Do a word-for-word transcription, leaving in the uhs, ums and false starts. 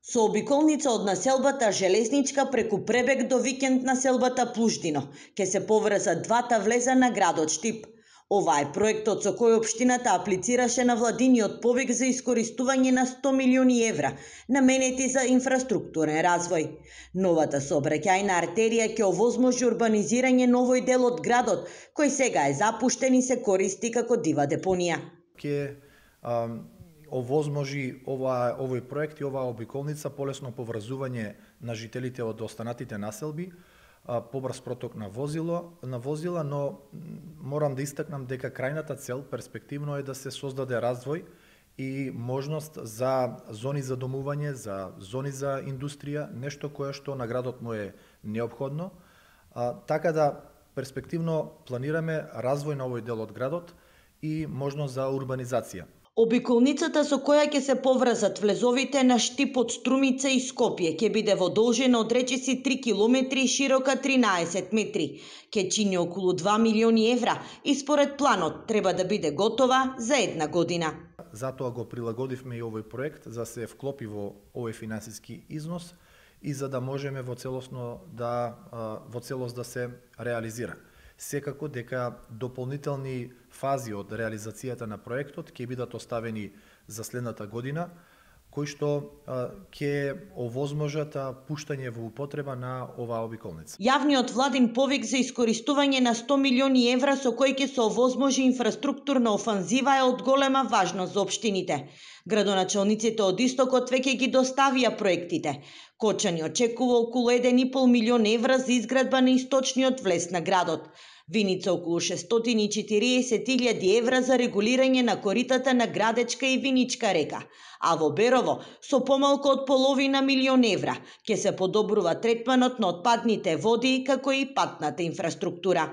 Со обиколница од населбата Железничка преку пребег до викенд населбата Плуждино ќе се поврзат двата влеза на градот Штип. Ова е проектот со кој општината аплицираше на владиниот повик за искористување на сто милиони евра, наменети за инфраструктурен развој. Новата сообраќајна артерија ќе овозможи урбанизирање новој дел од градот, кој сега е запуштен и се користи како дива депонија. Ке овозможи ова овој проект и оваа обиколница полесно поврзување на жителите од останатите населби, побрз проток на возило, на возила, но морам да истакнам дека крајната цел перспективно е да се создаде развој и можност за зони за домување, за зони за индустрија, нешто кое што на градот му е неопходно. А, така да перспективно планираме развој на овој дел од градот и можност за урбанизација. Обиколницата со која ќе се поврзат влезовите на Штип од Струмица и Скопје ќе биде во должина од речиси три километри и широка тринаесет метри. Ќе чини околу два милиони евра и според планот треба да биде готова за една година. Затоа го прилагодивме и овој проект за се вклопи во овој финансиски износ и за да можеме во целосно да во целост да се реализира. Секако дека дополнителни фази од реализацијата на проектот ќе бидат оставени за следната година, кои што ќе овозможат пуштање во употреба на оваа обиколница. Јавниот владин повик за искористување на сто милиони евра со кој ќе се овозможи инфраструктурна офанзива е од голема важност за општините. Градоначалниците од Истокот веќе ги доставија проектите. Кочани очекува околу еден и пол милион евра за изградба на источниот влез на градот. Виница околу шестстотини и четириесет илјади евра за регулирање на коритата на Градечка и Виничка река, а во Берово со помалку од половина милион евра ќе се подобрува третманот на отпадните води како и патната инфраструктура.